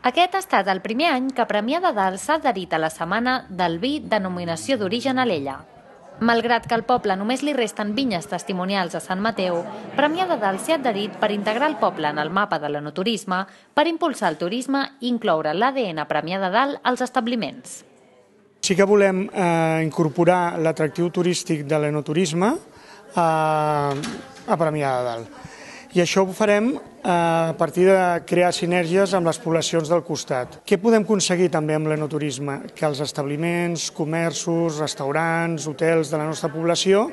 Aquest ha estat el primer any que Premià de Dalt s'ha adherit a la Setmana del Vi denominació d'origen Alella. Malgrat que al poble només li resten vinyes testimonials a Sant Mateu, Premià de Dalt s'ha adherit per integrar el poble en el mapa de l'enoturisme, per impulsar el turisme i incloure l'ADN Premià de Dalt als establiments. Sí que volem incorporar l'atractiu turístic de l'enoturisme a Premià de Dalt. I això ho farem a partir de crear sinergies amb les poblacions del costat. Què podem aconseguir també amb l'enoturisme? Que els establiments, comerços, restaurants, hotels de la nostra població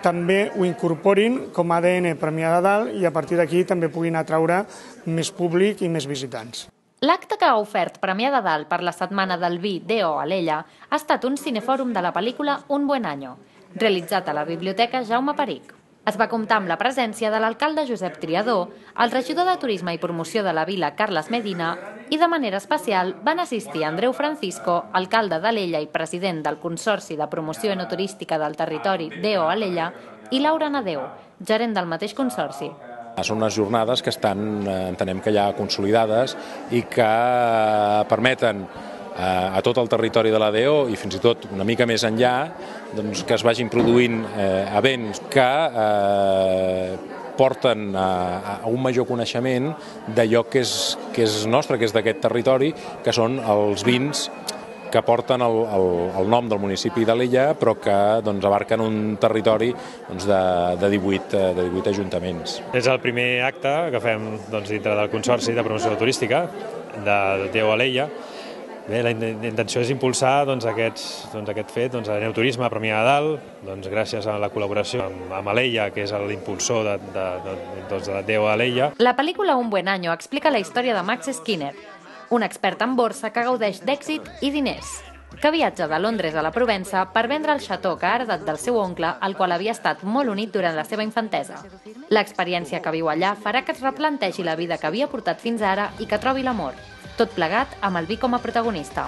també ho incorporin com a ADN Premià de Dalt i a partir d'aquí també puguin atraure més públic i més visitants. L'acte que ha ofert Premià de Dalt per la Setmana del Vi D.O. Alella ha estat un cinefòrum de la pel·lícula Un buen año, realitzat a la Biblioteca Jaume Peric. Es va comptar amb la presència de l'alcalde Josep Triadó, el regidor de Turisme i Promoció de la Vila Carles Medina i de manera especial van assistir Andreu Francisco, alcalde d'Alella i president del Consorci de Promoció Enoturística del Territori D.O. Alella, i Laura Nadeu, gerent del mateix consorci. Són unes jornades que estan, entenem que ja consolidades i que permeten a tot el territori de la DO i fins i tot una mica més enllà que es vagin produint events que porten a un major coneixement d'allò que és nostre, que és d'aquest territori, que són els vins que porten el nom del municipi d'Alella, però que abarquen un territori de 18 ajuntaments. És el primer acte que fem dintre del Consorci de Promoció Turística de D.O. Alella. Bé, la intenció és impulsar aquest fet, l'enoturisme a Premià de Dalt, gràcies a la col·laboració amb Alella, que és l'impulsor de D.O. Alella. La pel·lícula Un buen año explica la història de Max Skinner, un expert en borsa que gaudeix d'èxit i diners, que viatja de Londres a la Provença per vendre el xató que ha heredat del seu oncle, al qual havia estat molt unit durant la seva infantesa. L'experiència que viu allà farà que es replantegi la vida que havia portat fins ara i que trobi l'amor, tot plegat amb el vi com a protagonista.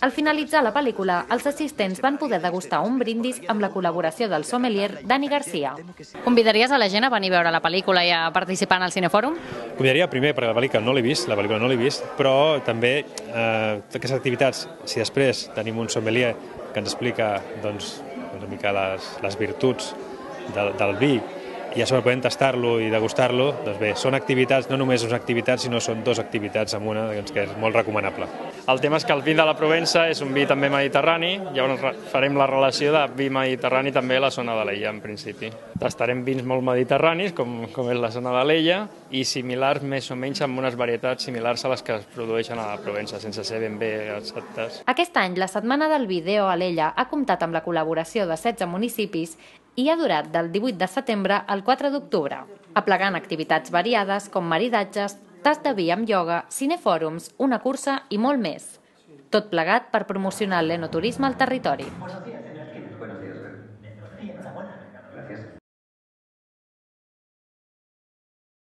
Al finalitzar la pel·lícula, els assistents van poder degustar un brindis amb la col·laboració del sommelier Dani Garcia. Convidaries a la gent a venir a veure la pel·lícula i a participar en el cinefòrum? Convidaria primer, perquè la pel·lícula no l'he vist, però també aquestes activitats, si després tenim un sommelier que ens explica una mica les virtuts del vi, i a sobre podem tastar-lo i degustar-lo, doncs bé, són activitats, no només són activitats, sinó són dues activitats en una, que és molt recomanable. El tema és que el vi de la Provença és un vi també mediterrani, llavors farem la relació de vi mediterrani també a la zona d'Alella, en principi. Tastarem vins molt mediterranis, com és la zona d'Alella, i similars més o menys amb unes varietats similars a les que es produeixen a la Provença, sense ser ben bé exactes. Aquest any, la Setmana del Vi D.O. Alella ha comptat amb la col·laboració de 16 municipis i ha durat del 18 de setembre al 4 d'octubre, aplegant activitats variades com maridatges, tast de vi amb ioga, cinefòrums, una cursa i molt més. Tot plegat per promocionar l'enoturisme al territori.